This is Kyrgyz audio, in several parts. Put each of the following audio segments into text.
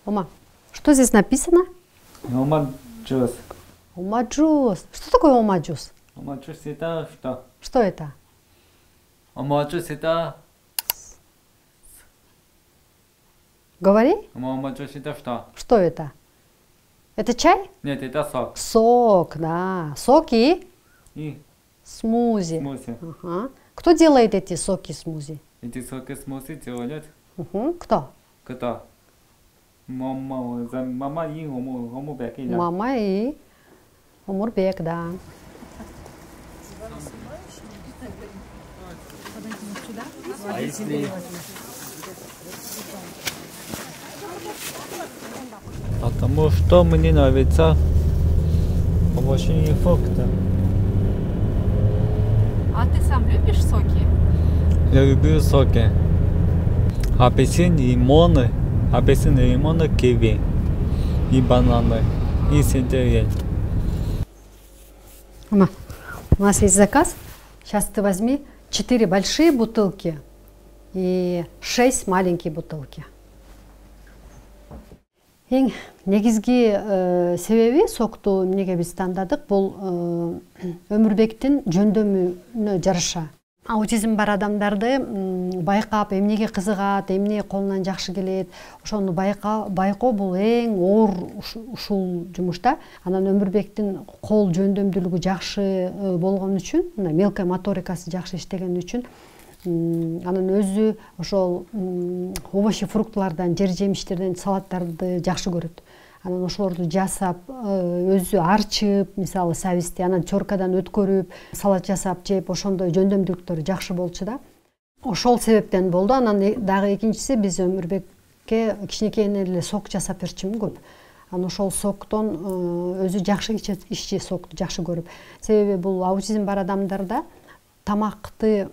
Ома, что здесь написано? Омаджус. Омаджус. Что такое омаджус? Омаджус это что? Что это? Омаджус это... Говори. Омаджус это что? Что это? Это чай? Нет, это сок. Сок, да. Соки? И Смузи. смузи. Ага. Кто делает эти соки смузи? Эти соки смузи делают Кто? кто? Мама и Омурбек. Мама и Омурбек, да. А если... Потому что мне нравится овощи и фрукты. А ты сам любишь соки? Я люблю соки. Апельсин, лимоны, киви, и бананы, и сельдерей. Мама, у нас есть заказ. Сейчас ты возьми 4 большие бутылки и 6 маленькие бутылки. Эң негизги себеби сокту эмнеге биз тандадык, бул Өмүрбектин жөндөмүнө жараша. Аутизм бар адамдарды байкап, эмнеге кызыгат, эмне колунан жакшы келет, ошону байкоо бул эң оор ушул жумуш да. Анан Өмүрбектин кол жөндөмдүүлүгү жакшы болгон үчүн, мына мелкая моторикасы жакшы иштеген үчүн, анан өзү ошол овощи фруктылардан, жер жемиштерден салаттарды жакшы көрөт. Анан ошолорду жасап, өзү арчып, мисалы сабизди анан чоркадан өткөрүп, салат жасап жеп, ошондой жөндөмдүүлүктөрү жакшы болчу да. Ошол себептен болду. Анан дагы экинчиси, биз Өмүрбекке кичинекейинен эле сок жасап берчүмүн көп. Анан ошол соктон өзү жакшы иччи, сокту жакшы көрүп. Себеби бул аутизм бар адамдарда тамакты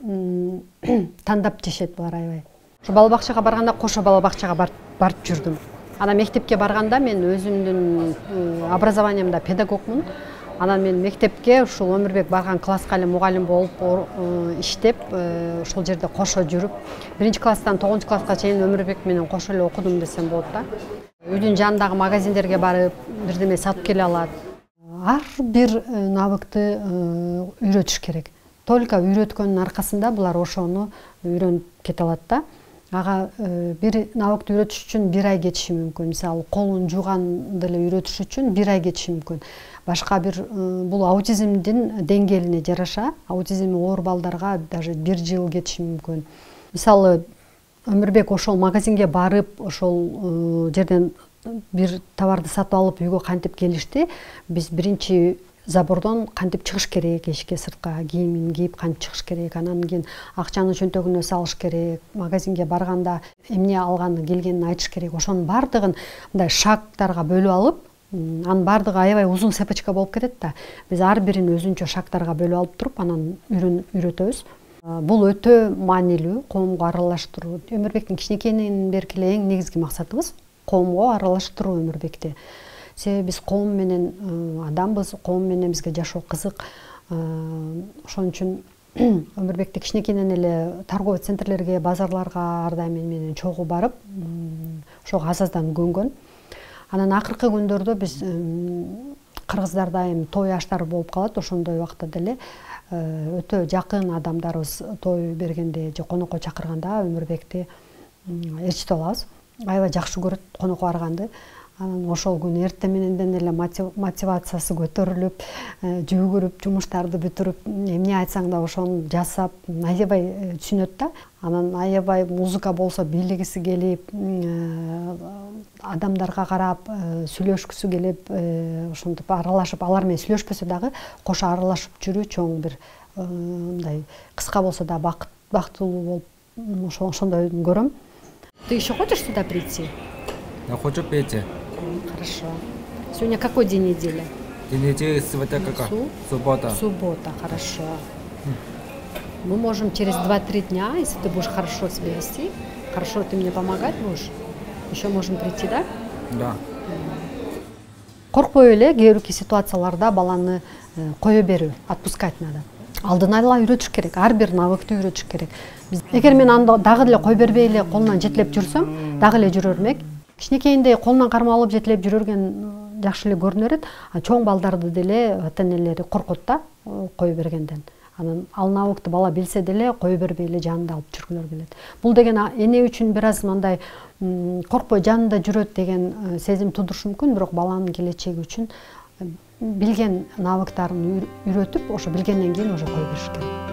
тандап жешет булар аябай. Ошо бала бакчага барганда кошо бала бакчага барып жүрдүм. Анан мектепке барганда мен өзүмдүн образованиямда педагогмун. Анан мен мектепке ушул Өмүрбек барган класска эле мугалим болуп иштеп, ошол жерде кошо жүрүп, 1-класстан 9-класска чейин Өмүрбек менен кошо эле окудум десем болот да. Үйдүн жанындагы магазиндерге барып, бирдеме сатып келе алат. Ар бир навыкты үйрөтүш керек. Только үйрөткөндүн аркасында булар ошону үйрөнүп кете алат да. Ага бир навыкты үйрөтүш үчүн 1 ай кетиши мүмкүн. Мисалы, колун жууганды эле үйрөтүш үчүн 1 ай кетиши мүмкүн. Башка бир бул аутизмдин деңгээлине жараша, аутизми оор балдарга даже 1 жыл кетиши мүмкүн. Мисалы, Өмүрбек ошол магазинге барып, ошол жерден бир товарды сатып алып үйгө кантип келишти. Биз биринчи забордон кантип чыгыш керек, эшикке сыртка кийимин кийип кантип чыгыш керек, анан кийин акчаны чөнтөгүнө салыш керек, магазинге барганда эмне алганы келгенин айтыш керек. Ошонун бардыгын мындай шагтарга бөлүп алып, анын бардыгы аябай узун цепочка болуп кетет да. Биз ар бирин өзүнчө шагтарга бөлүп алып туруп, анан үйрөтөбүз. Бул өтө маанилүү, коомго аралаштыруу. Өмүрбектин кичинекейинен берки эле эң негизги максатыбыз коомго аралаштыруу Өмүрбекти. Себеби биз коом менен адамбыз, коом менен бизге жашоо кызык. Ошон үчүн Өмүрбекти кичинекейинен эле торговый центрлерге, базарларга ар дайым менен чогуу барып, ошого азаздан көнгөн. Анан акыркы күндөрдө биз кыргыздарда эми той аштар болуп калат, ошондой убакта деле өтө жакын адамдарыбыз той бергенде же конокко чакырганда Өмүрбекти ээрчитип алабыз. Аябай жакшы көрөт конокко барганды. Анан ошол күн эртең мененден эле мотивациясы көтөрүлүп, жүгүрүп, жумуштарды бүтүрүп, эмне айтсаң да ошону жасап, аябай түшүнөт да. Анан аябай музыка болсо бийлигиси келип, адамдарга карап, сүйлөшкүсү келип, ошентип аралашып, алар менен сүйлөшпөсө дагы кошо аралашып жүрүү чоң бир мындай кыска болсо да бактылуу болуп, ошондой көрөм. Ты еще хочешь сюда прийти? Я хочу пойти. Хорошо. Сегодня какой день недели? День недели сегодня какая? Суббота. Суббота, хорошо. Мы можем через 2-3 дня, если ты будешь хорошо себя вести, хорошо ты мне помогать будешь, еще можем прийти, да? Да. Коркпой эле кээ бир ситуацияларда баланы кое берүү, отпускать надо. Алдын ала үйрөтүш керек, ар бир навыкты үйрөтүш керек. Эгер мен анда дагы эле кой бербей эле колунан жетелеп жүрсөм, дагы эле жүрөр элек. Кичинекейинде колунан кармап алып жетелеп жүрөргөн жакшы эле көрүнө берет. Чоң балдарды деле ата энелери коркот да кое бергенден. Анан ал навыкты бала билсе деле кое бербей эле жанында алып жүргүлөр келет. Бул деген эне үчүн бир аз мындай коркпой жанында жүрөт деген сезим тудурушу мүмкүн, бирок баланын келечеги үчүн билген навыктарын үйрөтүп, ошо билгенден кийин уже кое бериш керек.